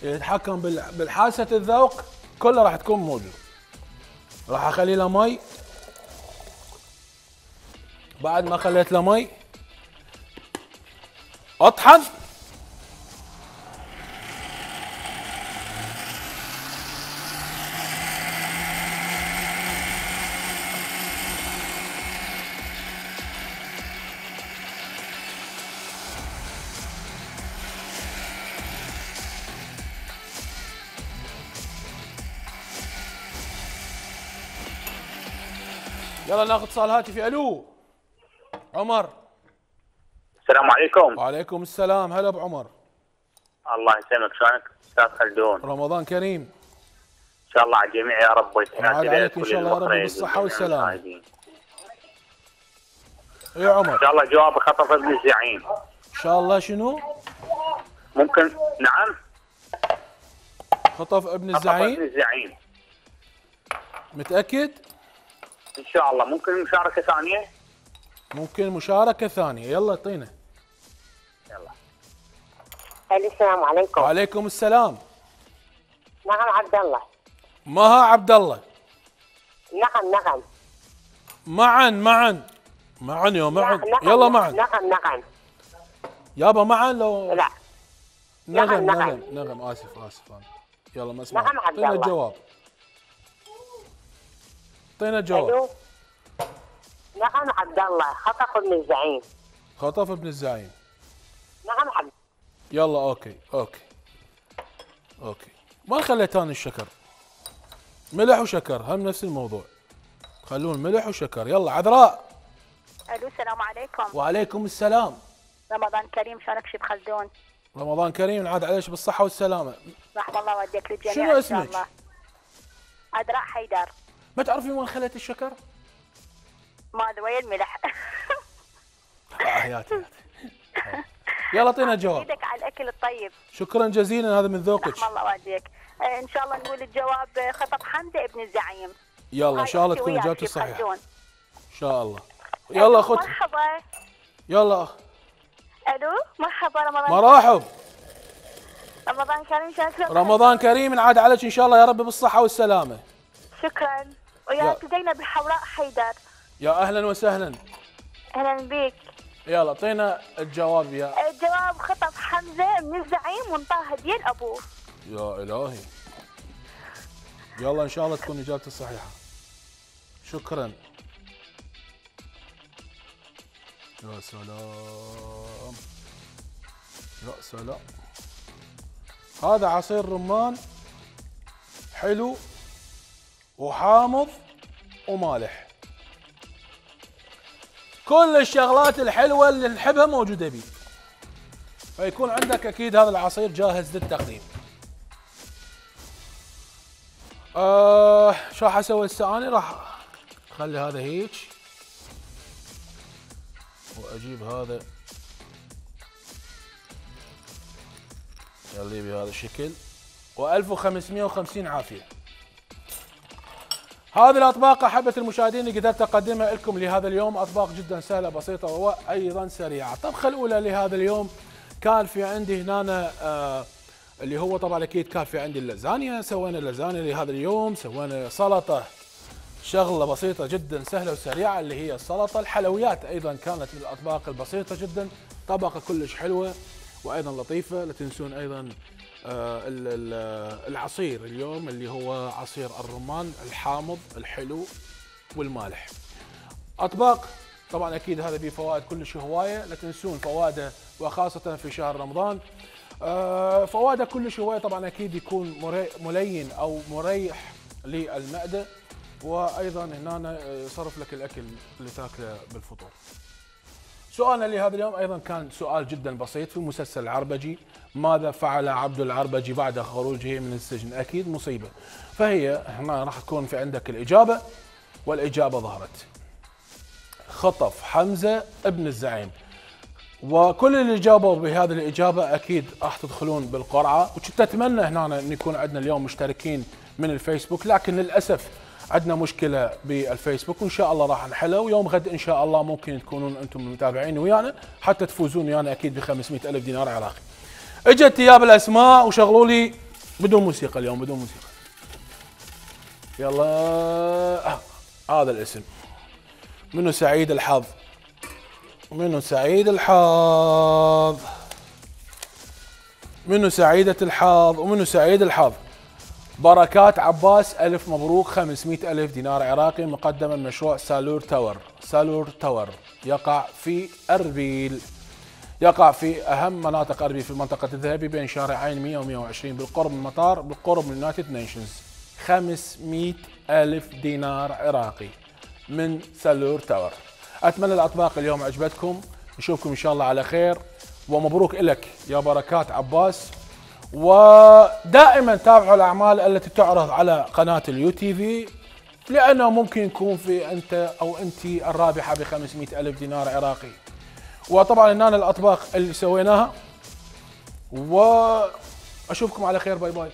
يتحكم بالحاسة الذوق كله راح تكون موجود. راح اخلي له مي. بعد ما خليت له مي اطحن. يلا ناخذ اتصال هاتفي. الو عمر. السلام عليكم. وعليكم السلام. هلا بعمر. الله يسلمك. شلونك استاذ خلدون؟ رمضان كريم ان شاء الله على الجميع يا رب. وعاد عليك ان شاء الله يا رب بالصحه والسلامه. اي عمر. ان شاء الله جواب خطف ابن الزعيم. ان شاء الله شنو؟ ممكن. نعم. خطف ابن خطف ابن الزعيم. الزعيم. متاكد؟ ان شاء الله. ممكن مشاركه ثانيه؟ ممكن مشاركه ثانيه. يلا اعطينا. يلا. السلام عليكم. وعليكم السلام. نعم عبد الله. مها عبد الله. نعم نعم. معا معا معا يا معا. نعم يلا معا. نعم نعم. يابا معا لو لا. نغم نعم، نغم نغم. اسف اسف انا. يلا ما اسمع. نعم عبد اعطينا الله. الجواب. اعطينا الجواب. ألو. نعم عبد الله. خطف ابن الزعيم. خطف ابن الزعيم. نعم عبد. يلا اوكي اوكي اوكي. ما خليت انا الشكر. ملح وشكر هم نفس الموضوع. خلون ملح وشكر. يلا عذراء. الو السلام عليكم. وعليكم السلام. رمضان كريم. شلونك شيف خلدون؟ رمضان كريم. عاد عليش بالصحة والسلامة. رحم الله والديك للجميع. شنو إن شاء اسمك؟ الله. عذراء حيدر. ما تعرفين وين خليت الشكر؟ ما ادري وين الملح. آه حياتي. يلا اعطينا الجواب. ايدك على الاكل الطيب. شكرا جزيلا هذا من ذوقك. رحم الله والديك. آه ان شاء الله نقول الجواب خطب حمزه ابن الزعيم. يلا ان شاء الله تكون وياك اجابتي شيف صحيحة. خلدون. ان شاء الله. يلا اخوتي. مرحبا. يلا اخ. الو مرحبا. رمضان مرحب. رمضان كريم. شكرا. رمضان كريم. عاد عليك ان شاء الله يا رب بالصحة والسلامة. شكرا. وياك زينب الحوراء حيدر. يا اهلا وسهلا. اهلا بك. يلا اعطينا الجواب يا. الجواب خطب حمزه من الزعيم وانطاه هديه لابوه. يا الهي. يلا ان شاء الله تكون اجابتي الصحيحه. شكرا. يا سلام يا سلام. هذا عصير رمان حلو وحامض ومالح. كل الشغلات الحلوه اللي نحبها موجوده بيه. فيكون عندك اكيد هذا العصير جاهز للتقديم. آه شو راح اسوي هسه اني؟ راح اخلي هذا هيك واجيب هذا خليه بهذا الشكل وألف وخمسمئة وخمسين عافيه. هذه الاطباق احبه المشاهدين اللي قدرت اقدمها لكم لهذا اليوم، اطباق جدا سهله بسيطه وايضا سريعه. الطبخه الاولى لهذا اليوم كان في عندي هنا آه اللي هو طبعا اكيد كان في عندي اللازانيا. سوينا اللازانيا لهذا اليوم، سوينا سلطه شغله بسيطه جدا سهله وسريعه اللي هي السلطه. الحلويات ايضا كانت من الاطباق البسيطه جدا، طبقه كلش حلوه وايضا لطيفه. لا تنسون ايضا آه العصير اليوم اللي هو عصير الرمان الحامض الحلو والمالح. اطباق طبعا اكيد هذا به فوائد كلش هوايه، لا تنسون فوائده وخاصه في شهر رمضان. آه فوائده كلش هوايه، طبعا اكيد يكون ملين او مريح للمعده، وايضا هنا يصرف لك الاكل اللي تاكله بالفطور. سؤالنا لهذا اليوم ايضا كان سؤال جدا بسيط في مسلسل العربجي. ماذا فعل عبد العربجي بعد خروجه من السجن؟ اكيد مصيبه. فهي هنا راح تكون في عندك الاجابه، والاجابه ظهرت. خطف حمزه ابن الزعيم. وكل اللي جاوبوا بهذه الاجابه اكيد راح تدخلون بالقرعه، وكنت اتمنى هنا ان يكون عندنا اليوم مشتركين من الفيسبوك، لكن للاسف عندنا مشكله بالفيسبوك وان شاء الله راح نحلها، ويوم غد ان شاء الله ممكن تكونون انتم متابعين ويانا حتى تفوزون ويانا اكيد ب خمسمئة ألف دينار عراقي. اجت تياب الاسماء وشغلوا لي بدون موسيقى اليوم، بدون موسيقى. يلا آه. هذا الاسم منو سعيد الحظ؟ منو سعيد الحظ؟ منو سعيدة الحظ؟ ومنو سعيد الحظ؟ بركات عباس، ألف مبروك، خمسمئة ألف دينار عراقي مقدما من مشروع سالور تاور. سالور تاور يقع في أربيل، يقع في أهم مناطق أربيل في منطقة الذهبي بين شارعين مئة ومئة وعشرين بالقرب من المطار بالقرب من اليونايتد نيشنز. خمسمئة ألف دينار عراقي من سالور تاور. أتمنى الأطباق اليوم عجبتكم، نشوفكم إن شاء الله على خير، ومبروك لك يا بركات عباس. ودائما تابعوا الاعمال التي تعرض على قناه اليو تي في، لانه ممكن يكون في انت او انت الرابحه ب خمسمئة ألف دينار عراقي. وطبعا هنا الاطباق اللي سويناها، واشوفكم على خير. باي باي.